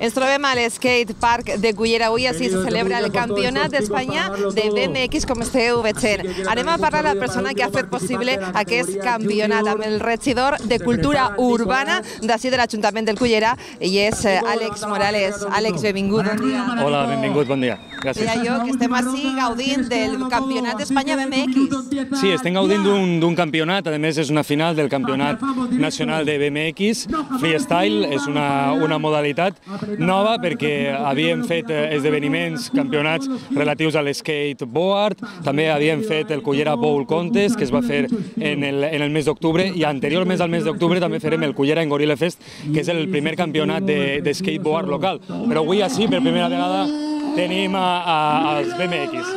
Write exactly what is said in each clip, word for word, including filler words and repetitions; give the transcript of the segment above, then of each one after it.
Ens trobem a l'Skate Park de Cullera. Avui així se celebra el Campionat d'Espanya de B M X, com esteu veient. Anem a parlar amb la persona que ha fet possible aquest campionat, amb el regidor de Cultura Urbana d'ací de l'Ajuntament del Cullera, i és Àlex Morales. Àlex, benvingut, bon dia. Hola, benvingut, bon dia. Gràcies. Deia jo que estem així gaudint del Campionat d'Espanya B M X. Sí, estem gaudint d'un campionat, a més és una final del Campionat Nacional de B M X. Freestyle és una, una modalitat nova perquè havíem fet esdeveniments, campionats relatius a l'skateboard, també havíem fet el Cullera Bowl Contest, que es va fer en el, en el mes d'octubre, i anteriorment al mes d'octubre també farem el Cullera en Gorilla Fest, que és el primer campionat de, de skateboard local. Però avui així, per primera vegada, tenim a, a, als B M X.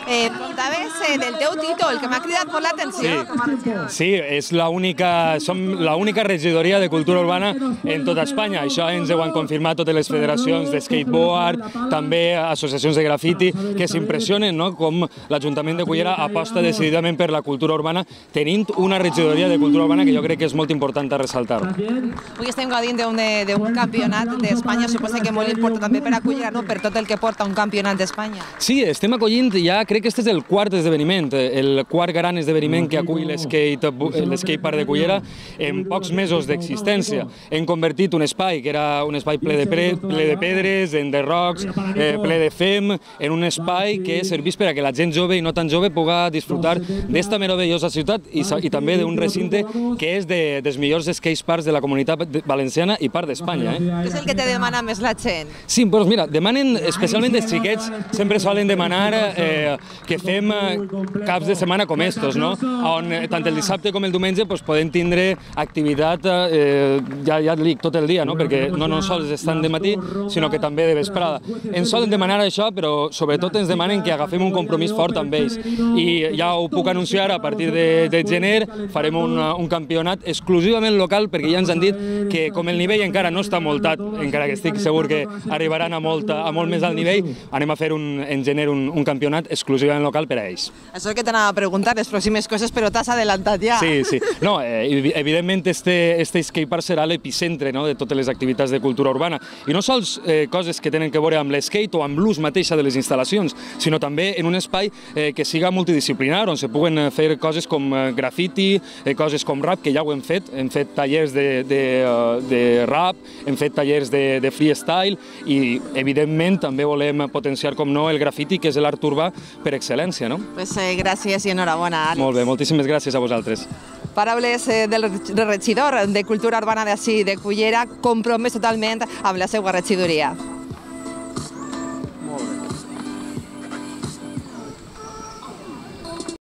Eh, contaves eh, del teu títol, que m'ha cridat molt l'atenció. Sí, sí, és l'única, som l'única regidoria de cultura urbana en tota Espanya. Això ens ho han confirmat totes les federacions de skateboard, també associacions de grafiti, que s'impressionen, no?, com l'Ajuntament de Cullera aposta decididament per la cultura urbana, tenint una regidoria de cultura urbana que jo crec que és molt important a ressaltar. Avui estem gaudint d'un campionat d'Espanya, suposa que molt important també per a Cullera, no?, per tot el que porta un campionat d'Espanya. Sí, estem acollint ja, crec que este és el quart esdeveniment, el quart gran esdeveniment que acull l'skatepark de Cullera en pocs mesos d'existència. Hem convertit un espai que era un espai ple de, pre, ple de pedres, en de rocs, eh, ple de fem, en un espai que serveix per a que la gent jove i no tan jove puga disfrutar d'esta meravellosa ciutat i, i també d'un recinte que és de, dels millors skateparks de la comunitat valenciana i part d'Espanya. Eh? Què és el que te demana més la gent? Sí, doncs mira, demanen, especialment els xiquets, sempre solen demanar eh, que fem caps de setmana com estos, no? On tant el dissabte com el diumenge pues, podem tindre activitat eh, ja, ja dic, tot el dia, no? Perquè no, no sols estan de matí, sinó que també de vesprada. Ens solen demanar això, però sobretot ens demanen que agafem un compromís fort amb ells. I ja ho puc anunciar, a partir de, de gener farem un, un campionat exclusivament local, perquè ja ens han dit que com el nivell encara no està molt alt, encara que estic segur que arribaran a molt, a molt més alt nivell, anem a fer un, en gener un, un campionat exclusivament local per a ells. Això que t'anava a preguntar, les pròximes coses, però t'has adelantat ja. Sí, sí. No, eh, evidentment este, este skatepark serà l'epicentre, no?, de totes les activitats de cultura urbana. I no sols eh, coses que tenen que veure amb l'skate o amb l'ús mateixa de les instal·lacions, sinó també en un espai eh, que siga multidisciplinar, on se puguen fer coses com eh, grafiti, eh, coses com rap, que ja ho hem fet. Hem fet tallers de, de, de rap, hem fet tallers de, de freestyle i, evidentment, també volem potenciar, com no, el grafiti, que és l'art urbà per excel·lència, no? Pues eh, gràcies i enhorabona, Àlex. Molt bé, moltíssimes gràcies a vosaltres. Paraules eh, del regidor de Cultura Urbana d'ací de Cullera, compromès totalment amb la seva regidoria.